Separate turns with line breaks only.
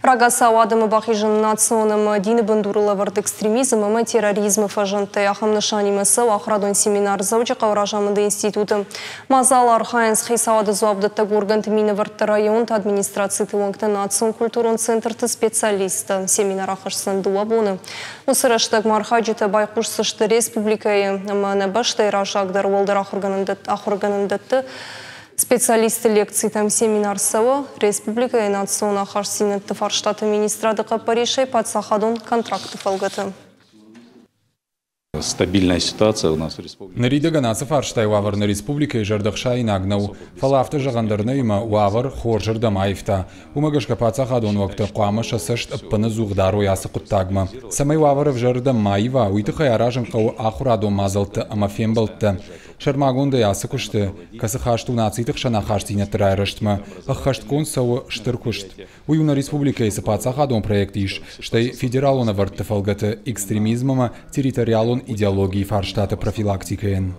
Рагацау адӕмы бахизын национ ӕмӕ дины бындурыл ӕвӕрд экстремизм ӕмӕ терроризмы фӕзындтӕй, ахӕм нысанимӕ цӕуы ахуырадон семинар Дзӕуджыхъӕуы разамынды институты. Мадзалы архайынц хицауады дзуапдӕттӕг органты минӕвӕртты, районты администрациты уӕнгтӕ, национ-культурон центрты специалисттӕ. Семинар ахӕсдзӕн 2 боны. Уыцы рӕстӕгмӕ архайджытӕ байхъусдзысты республикӕйы ӕмӕ нӕ бӕстӕйы раззагдӕр уӕлдӕр ахуыргӕнӕндӕтты специалистты лекцитӕм. Семинар цӕуы республикӕйы национ ахастдзинӕдты фарстаты министрады хъӕппӕрисӕй паддзахадон контракты фӕлгӕты.
Стабильная ситуация у нас в республике.
Ныридӕгӕн ацы фарстайы уавӕр нӕ республикӕйы зӕрдӕхсаинаг нӕу, фӕлӕ афтӕ зӕгъӕн дӕр нӕй, ӕмӕ уавӕр хорзырдӕм аивта. Уымӕ гӕсгӕ паддзахадон уӕгтӕ хъуамӕ сӕ цӕст ӕппынӕдзух дарой ацы хъуыддагмӕ. Цӕмӕй уавӕр ӕвзӕрырдӕм ма ива, уый тыххӕй аразын хъӕуы ахуырадон мадзӕлттӕ ӕмӕ фембӕлдтӕ. Сӕрмагондӕй ацы куысты, кӕцы хаст у нациты хсӕн ахастдзинӕдты райрӕзтмӕ, ӕххӕстгонд цӕуы стыр куыст. Уый у нӕ республикӕйы цы паддзахадон проект ис, стӕй федералон ӕвӕрдты фӕлгӕты экстремизм ӕмӕ территориалон идеологийы фарстаты профилактикӕйӕн.